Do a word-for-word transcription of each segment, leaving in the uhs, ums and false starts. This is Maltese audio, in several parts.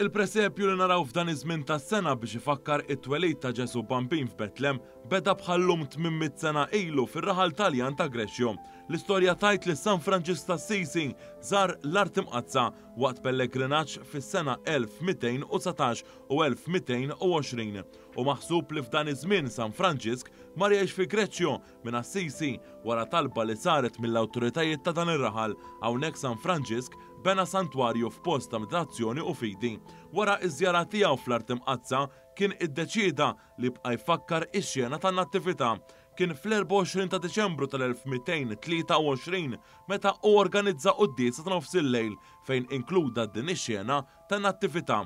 Il-presepju li naraw f'dan iż-żmien tas-sena biex ifakkar it-twelid ta' Ġesu Bambin f'Betlem beda bħallum tmien mitt sena ilu fir-raħal Taljan ta' Greccio. L-istorja tgħid li San Franġisk t'Assisi żar l-Art Imqaddsa waqt pellegrinaġġ fis-sena elf mitejn u dsatax u elf mitejn u għoxrin. U maħsub li f'dan iż-żmien San Franġisk mar jgħix fi Greccio minn Assisi wara talba li saret mill-awtoritajiet ta' dan ir-raħal. Hawnhekk San Franġisk bena santwarju f'post ta' meditazzjoni u fidi. Wara iż-żjara tiegħu fl-Art Imqaddsa kien iddeċieda li jibqa' jfakkar ix-xena tan-nattività. Kien fl-erbgħa u għoxrin ta' Diċembru tal-elf mitejn tlieta u għoxrin meta hu organizza quddiesa ta' nofs il-lejl fejn inkluda din ix-xena tan-nattività.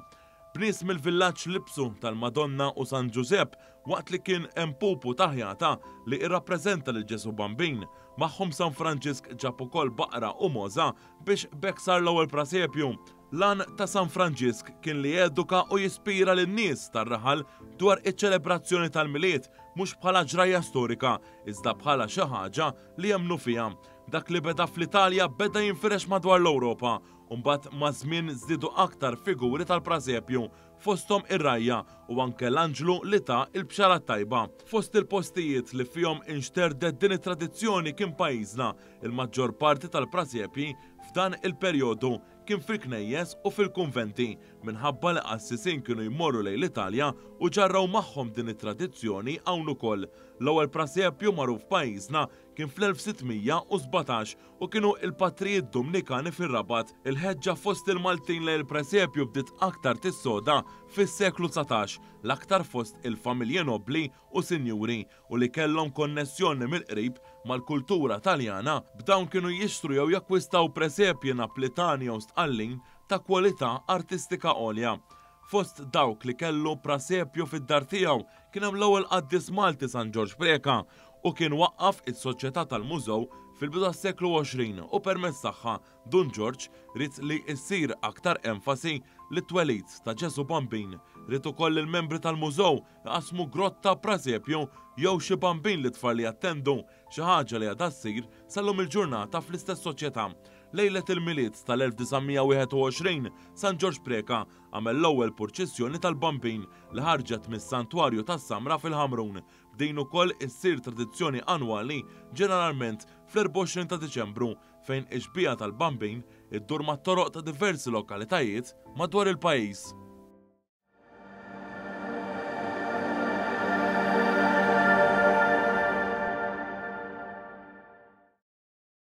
Bnies mill-villaġġ libsu tal-Madonna u San Ġużepp waqt li kien hemm pupu ta' ħjata li irrappreżenta lil Ġesu Bambin. Magħhom San Franġisk ġab ukoll baqra u moża biex b'hekk sar l-ewwel presepju. L-għan ta' San Franġisk kien li jeduka u jispira lin-nies tar-raħal dwar iċ-ċelebrazzjoni tal-Milied mhux bħala ġrajja storika, iżda bħala xi ħaġa li jemmnu fiha. Dak li beda fl-Italja beda jinfirex madwar l-Ewropa, u mbagħad ma' żmien żdiedu aktar figuri tal-presepju, fosthom ir-rajja u anke l-anġlu li ta l-bxara tajba. Fost il-postijiet li fihom inxterdet din it-tradizzjoni kien pajjiżna. Il-maġġor parti tal-presepji f'dan il-perjodu kien fil-knejjes u fil-kunventi, minħabba li qassisin kienu jmorru lejn l-Italja u ġarraw magħhom din it-tradizzjoni hawn ukoll. L-ewwel presepju magħruf pajjiżna kien fl-elf sittmija u sbatax u kienu il-patrijiet Dominikani fir-Rabat. Il-ħeġġa fost il-Maltin lejn il-presepju bdiet aktar tissoda fis-seklu dsatax, l-aktar fost il-familji nobli u sinjuri u li kellhom konnessjoni mill-qrib mal-kultura Taljana. B'dawn kienu jixtru jew jakkwistaw presepji Naplitani jew Sqallin ta' kwalità artistika għolja. Fost dawk li kellu presepju fid-dar tiegħu kien hemm l-ewwel qaddis Malti San Ġorġ Preca u kien waqqaf is-Soċjetà tal-Mużew fil-bidu tas-seklu għoxrin u permezz tagħha Dun Ġorġ ried li ssir aktar enfasi li t-twelid ta' Ġesu Bambin. Ried ukoll il-membri tal-mużew iqasmu grotta presepju jew xi bambin li tfal li jattendu, xi ħaġa li għadha ssir sal-lum il-ġurnata fl-istess soċjetà. Lejlet il-Milied tal-elf disa' mija wieħed u għoxrin, San Ġorġ Preca għamel l-ewwel purċissjoni tal-Bambin li ħarġet mis-Santwarju tas-Samra fil-Ħamrun. B'din ukoll issir tradizzjoni annwali ġeneralment fl-erbgħa u għoxrin ta' Diċembru fejn ix-xbieha tal-Bambin iddur mat-toroq ta' diversi lokalitajiet madwar il-pajjiż.